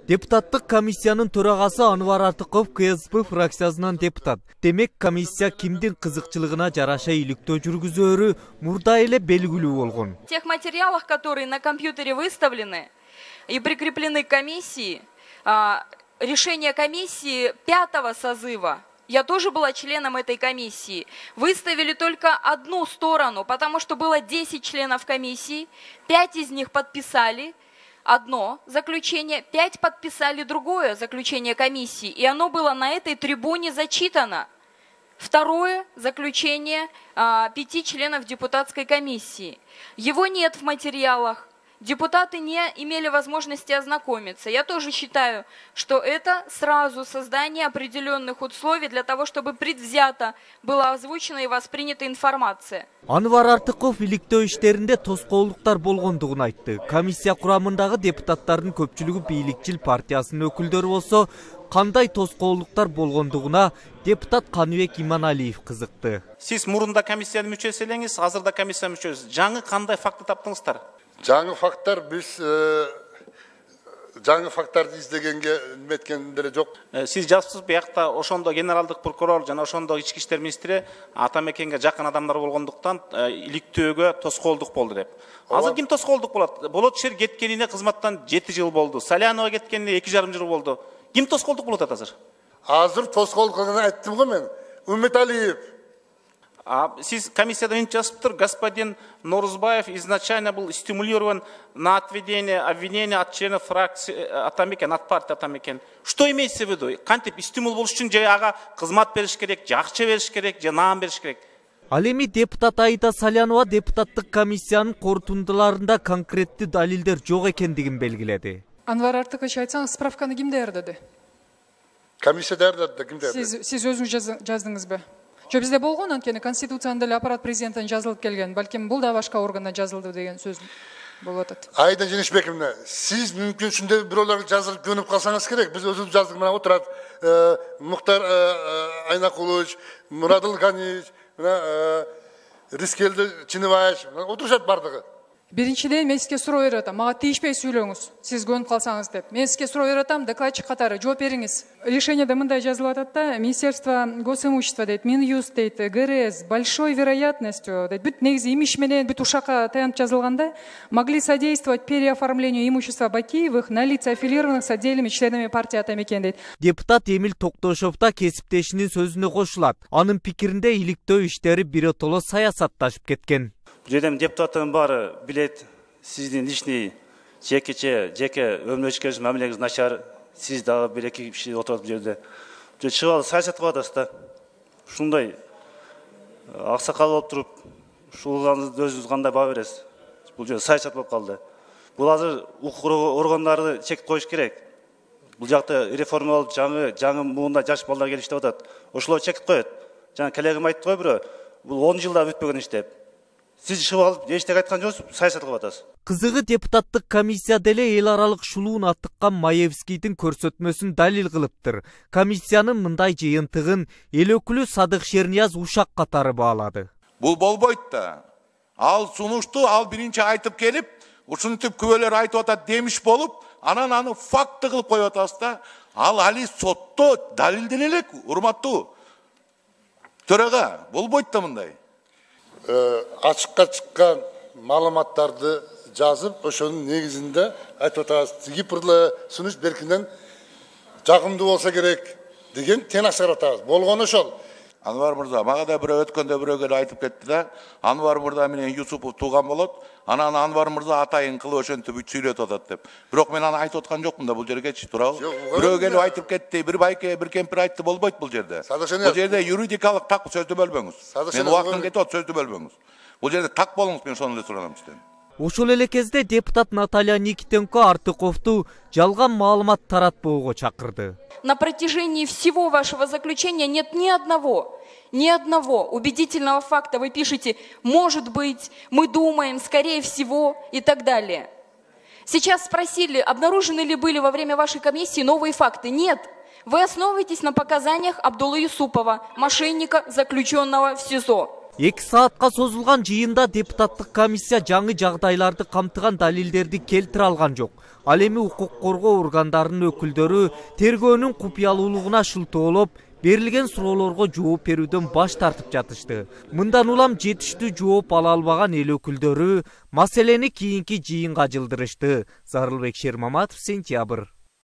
Депутаттык комиссиянын төрагасы Анвар Артыков КСП фракциясынан депутат. Демек комиссия кимдин кызыкчылыгына жараша иликтөө жүргүзөөрү мурда эле белгилүү болгон. В тех материалах, которые на компьютере выставлены и прикреплены к комиссии, решение комиссии 5-го созыва, я тоже была членом этой комиссии, выставили только одну сторону, потому что было 10 членов комиссии, 5 из них подписали одно заключение, 5 подписали другое заключение комиссии, и оно было на этой трибуне зачитано. Второе заключение 5 членов депутатской комиссии. Его нет в материалах. Депутаты не имели возможности ознакомиться. Я тоже считаю, что это сразу создание определенных условий для того, чтобы предвзято была озвучена и воспринята информация. Анвар Артыков иликтөө иштеринде тоскоолдуктар болгондугун айтты. Комиссия курамындагы депутаттардын көпчүлүгү бийликчил партиясынын өкүлдөрү болсо, кандай тоскоолдуктар болгондугуна депутат Каныбек Иманалиев кызыкты. Сиз мурунда комиссиянын мүчөсү элеңиз, азырда комиссия мүчөсү. Жаңы кандай факты таптыңыздар? Жаңы факттар биз жаңы факттарды издегенге неметкен деле жок. Сиз жазыпсыз биякта ошондо генералдык прокурор жана ошондо ички иштер министри Атамекенге жакын адамдар болгондуктан иликтөөгө тоскоолдук болду деп. Азыр ким тоскоолдук болот? Болот Шер кеткенине кызматтан 7 жыл болду. Салянова кеткенине 2,5 жыл болду. Ким тоскоолдук болот азыр? Азыр тоскоолдук айттым го мен. Үмүталиев. Сиз комиссияда мынча жазыптыр, господин Норузбаев изначально был стимулирован на отведение обвинения от членов фракции Атамекен, от партии Атамекен. Что имеется в виду? Кантип стимул болуш үчүн же ага кызмат бериш керек, же акча бериш керек, же наам бериш керек? Ал эми депутат Аида Салянова депутаттык комиссиянын корутундуларында конкреттүү далилдер жок экендигин белгиледи. Анвар Артыкович, айтсаңыз, справканы ким даярдады? Комиссия даярдады, ким даярдады? Сиз өзүңүз жаздыңызбы? Жо бизде болгон, анткени Конституцияда деле аппарат президенттен жазылып келген. Балким бул да башка органдан жазылды деген сөз болуп атат. Айда Женишбековна, сиз мүмкүн ушундай бирөөлөргө жазылып көнүп калсаңыз керек. Биз өзүбүз жаздык, мына отурат. Муктар Айнакулович, Мурадыл Ганиевич, мына Рискелди Чинибаевич, отурушат бардыгы. Биринчиден мен сизге суроо берип атам. Мага тийишпей сүйлөңүз. Сиз көнүп калсаңыз деп. Мен сизге суроо берип атам, докладчик катары жооп бериңиз. Решениеде мындай жазылып атат да, Министерство госимущества дейт, Минюст дейт, ГРС большой вероятностью дейт, бүт негизи имиш менен бүт ушакка таянып жазылганда, могли содействовать переоформлению имущества Бакиевых на лица аффилированных с отдельными членами партии Атамекен дейт. Депутат Эмил Токтошов да кесиптешинин сөзүнө кошулат. Анын пикиринде иликтөө иштери биротоло саясатташып кеткен. Жерден депутаттын баары билет, сиздин личный жеке өмүрүчкөңүз мамилеңиз начар, сиз дагы бир эки киши отурат бул жерде. Чыгып алып саясат кылып атасыз да. Ушундай аксакал болуп туруп, ушуларды өзүңүз кандай баа бересиз? Бул жерде саясат болуп калды. Бул азыр укук органдарды чек коюш керек. Бул жакта реформалып жаңы муунда жаш балдар келип иштеп атат. Ошолор чек коет. Жана коллегам айтты го бирөө, бул 10 жылда бүтпөгөн иш деп. Сиз чыгып алып эчтеке айткан жоксуз, саясат кылып атасыз. Кызыгы депутаттык комиссия деле эл аралык шулуун аттыккан Маевскийдин көрсөтмөсүн далил кылыптыр. Комиссиянын мындай жыйынтыгын эл өкүлү Садык Шернияз ушак катары баалады. Бул болбойт да. Ал сунушту, ал биринчи айтып келип, ушинтип күбөлөр айтып атат демиш болуп, анан аны факты кылып коюп атасыз да. Ал али сотто далилдене элек, урматтуу төрага, болбойт да мындай. Ачыкка чыккан маалыматтарды жазып, ошонун негизинде айтып атабыз. Кипрлы сунуш беркинен жагымдуу болсо керек деген тен ашырып атабыз. Болгону ошол. Анвар мырза, мага да бирөө өткөндө бирөөгө айтып кетти да, Анвар мырза менен Юсупов тууган болот. Анан Анвар мырза атайын кылып ошентип сүйлөтүп атат деп. Бирок мен аны айтып аткан жокмун да бул жергечи, туурабы? Бирөө келип айтып кетти, бир байке, бир кемпир айтты, болбойт бул жерде. Бул жерде юридикалык так сөздү бөлбөңүз. Мен убактым кетип атат, сөздү бөлбөңүз. Бул жерде так болуңуз, мен ошону эле суранам сизден. Ошол эле кезде депутат Наталья Никитенко Артыковду жалган маалымат таратпоого чакырды. На протяжении всего вашего заключения нет ни одного убедительного факта. Вы пишете «может быть», «мы думаем», «скорее всего» и так далее. Сейчас спросили, обнаружены ли были во время вашей комиссии новые факты. Нет. Вы основываетесь на показаниях Абдуллы Юсупова, мошенника, заключенного в СИЗО. 2 саатка созулган жыйында депутаттык комиссия жаңы жагдайларды камтыган далилдерди келтире алган жок. Ал эми укук коргоо органдарынын өкүлдөрү тергөөнүн купуялуулугуна шылтоолоп, берилген суроолорго жооп берүүдөн баш тартып жатышты. Мындан улам жетиштүү жооп ала албаган эл өкүлдөрү маселени кийинки жыйынга жылдырышты. Зарылбек Шермаматов, Сентябрь.